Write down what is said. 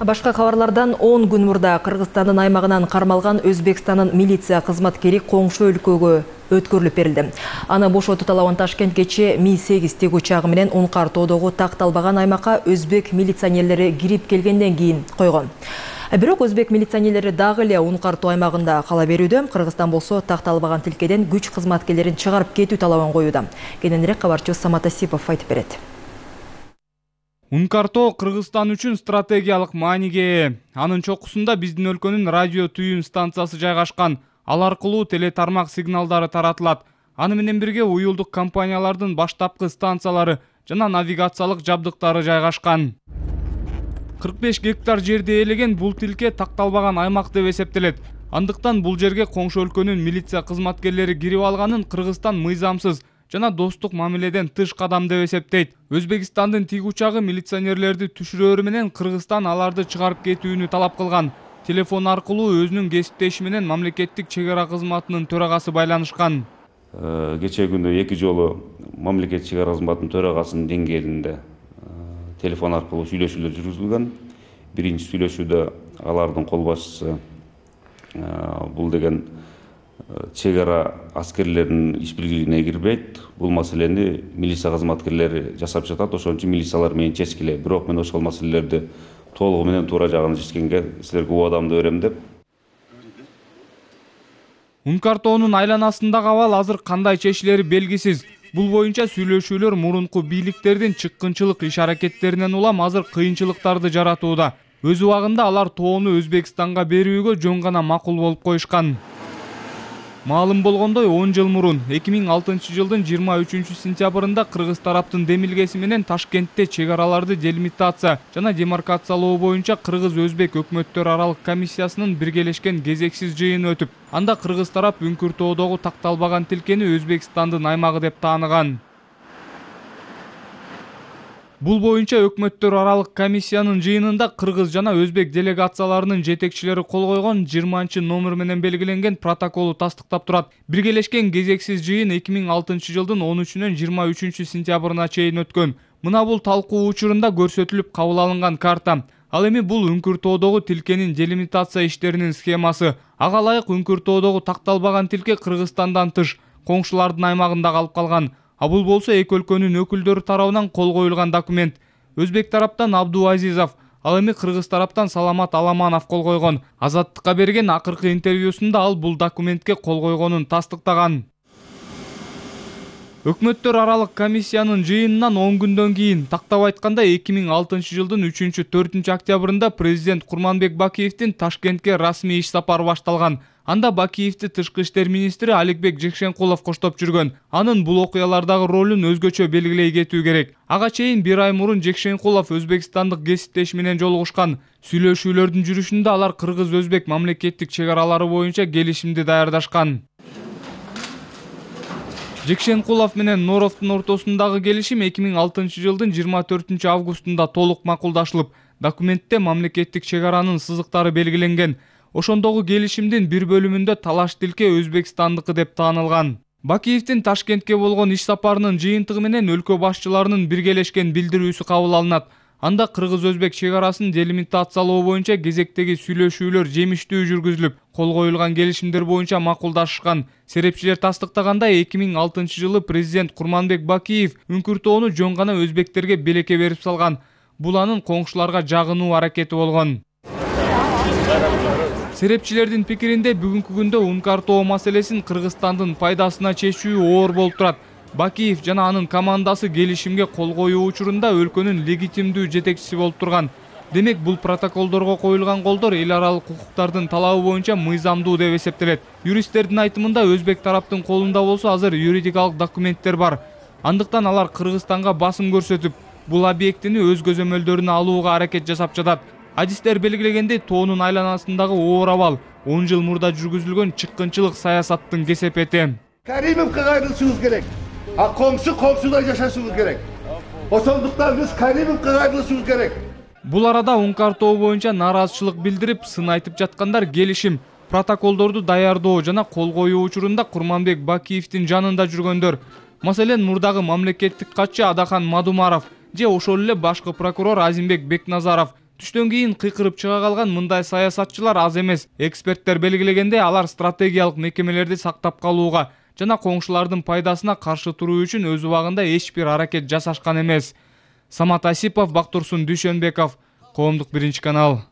Башка кабарлардан 10 күн мурда Кыргызстандын аймагынан кармалган Өзбекстандын милиция кызматкери коңшу өлкөгө өткөрүлүп берилди. Аны бошотуу талабын Ташкент кечээ Ми-8 тик учагы менен Ункар тоодогу такталбаган аймакка өзбек милиционерлери кирип келгенден кийин койгон. Бирок өзбек милиционерлери дагы эле Ункар тоо аймагында кала берүүдө. Кыргызстан болсо такталбаган тилкеден күч кызматкерлерин чыгарып кетүү талабын коюуда. Кененирээк кабарчыбыз Самат Асипов айтып берет. Ункар тоо Кыргызстан үчүн стратегиялык мааниге ээ. Анын чокусунда биздин өлкөнүн радио түйүн станциясы жайгашкан. Ал аркылуу телетармак сигналдары таратылат. Аны менен бирге уюлдук компаниялардын баштапкы станциялары жана навигациялык жабдыктары жайгашкан. 45 гектар жерди ээлеген бул тилке такталбаган аймак деп эсептелет. Андыктан бул жерге коңшу өлкөнүн милиция кызматкерлери кирип алганын Кыргызстан мыйзамсыз жана достук мамиледен тыш кадам деп эсептейт. Өзбекстандын тик учагы милиционерлерди түшүрөөрү менен Кыргызстан аларды чыгарып кетүүнү талап кылган. Телефон аркылуу өзүнүн кесиптеши менен мамлекеттик чек ара кызматынын төрагасы байланышкан. Кечээ күндө 2 жолу мамлекеттик чек ара кызматынын төрагасынын деңгээлинде телефон аркылуу сүйлөшүүлөр жүргүзүлгөн. Биринчи сүйлөшүүдө алардын кол башчысы бул деген чек ара аскерлеринин иш биргилигине кирбейт. Бул маселени милиция кызматкерлери жасап жатат. Ошон үчүн милициялар менен чечкиле. Бирок мен ошол маселелерди толугу менен туура жагын чечкенге силерге убадамды берем деп. Ункар тоонун айланасындагы абал азыр кандай чечилери белгисиз. Бул боюнча сүйлөшүүлөр мурунку бийликтердин чыккынчылык иш-аракеттеринен улам азыр кыйынчылыктарды жаратууда. Өз убагында алар тоону Өзбекстанга берүүгө жөн гана макул болуп коюшкан. Маалым болгондой 10 жыл мурун 2006 жылдын 23-сентябрында Кыргыз тараптын демилгеси менен Ташкентте чек араларды делимитация жана демаркациялоо боюнча Кыргыз-Өзбек өкмөттөр аралык комиссиясынын биргелешкен кезексиз жыйыны өтүп, анда Кыргыз тарап Үңкүр тоодогу такталбаган тилкени Өзбекстандын аймагы деп тааныган. Бул боюнча өкмөттөр аралык комиссиянын жыйынында Кыргыз жана Өзбек делегацияларынын жетекчилери кол койгон 20-номер менен белгиленген протоколу тастыктап турат. Биргелешкен кезексиз жыйын 2006 жылдын 13-нөн 23-сентябрына чейин өткөн. Мына бул талкуу учурунда көрсөтүлүп кабыл алынган карта. Ал эми бул Үңкүр тоодогу тилкенин делимитация иштеринин схемасы. Ага ылайык Үңкүр тоодогу такталбаган тилке Кыргызстандан тыш, коңшулардын аймагында калып калган. А бул болсо эки өлкөнүн өкүлдөрү тарабынан кол коюлган документ. Өзбек тараптан Абдуазизов, ал эми Кыргыз тараптан Саламат Аламанов кол койгон. Азаттыкка берген акыркы интервьюсунда ал бул документке кол койгонун тастыктаган. Өкмөттөр аралык комиссиянын жыйынынан 10 күндөн кийин, тактап айтканда 2006 жылдын 3-4 октябрында президент Курманбек Бакиевдин Ташкентке расмий иш сапары башталган. Анда Бакиевди тышкы иштер министри Аликбек Жекшенкулов коштоп жүргөн. Анын бул окуялардагы ролун өзгөчө белгилей кетүү керек. Ага чейин 1 ай мурун Жекшенкулов өзбекстандык кесиптеши менен жолугушкан. Сүйлөшүүлөрдүн жүрүшүндө алар Кыргыз-Өзбек мамлекеттик чек аралары боюнча келишимди даярдашкан. Жекшенкулов менен Норовдун ортосундагы келишим 2006 жылдын 24 августунда толук макулдашылып, документте мамлекеттик чек аранын сызыктары белгиленген. Ошондогу келишимдин бир бөлүмүндө талаш тилке Өзбекстандыкы деп таанылган. Бакиевдин Ташкентке болгон иш сапарынын жыйынтыгы менен өлкө башчыларынын биргелешкен билдирүүсү кабыл алынат. Анда Кыргыз-Өзбек чек арасын делимитациялоо боюнча кезектеги сүйлөшүүлөр жемиштүү жүргүзүлүп, кол коюлган келишимдер боюнча макулдашышкан. Серепчилер тастыктагандай 2006 жылы президент Курманбек Бакиев Үңкүр тоону жөн гана өзбектерге белекке берип салган. Бул анын коңшуларга жагынуу аракети болгон. Серепчилердин пикиринде бүгүнкү күндө Ункар тоо маселесин Кыргызстандын пайдасына чечүү оор болуп турат. Бакиев жана анын командасы келишимге кол коюу учурунда өлкөнүн легитимдүү жетекчиси болуп турган. Демек бул протоколдорго коюлган колдор эл аралык укуктардын талабы боюнча мыйзамдуу деп эсептелет. Юристтердин айтымында Өзбек тараптын колунда болсо азыр юридикалык документтер бар. Андыктан алар Кыргызстанга басым көрсөтүп, бул объектини өз көзөмөлдөрүнө алууга аракет жасап жатат. Адистер белгилегендей, тоонун айланасындагы оор абал 10 жыл мурда жүргүзүлгөн чыккынчылык саясаттын кесепети. Каримовго кайрылышыбыз керек. Коңшудай жашашыбыз керек. Ошондуктан биз Каримовго кайрылышыбыз керек. Бул арада Ункар тоо боюнча нааразычылык билдирип, сын айтып жаткандар келишим, протоколдорду даярдоо жана кол коюу учурунда Курманбек Бакиевдин жанында жүргөндөр. Маселен, мурдагы мамлекеттик катчы Адахан Мадумаров же ошол эле башкы прокурор Азимбек Бекназаров Түштөн кийин кыйкырып чыга калган мындай саясатчылар аз эмес. Эксперттер белгилегенде, алар стратегиялык мекемелерди сактап калууга жана коңшулардын пайдасына каршы туруу үчүн өз убагында эч бир аракет жасашкан эмес. Самат Асипов, Бактурсун Дүйшөнбеков, Коомдук 1 канал.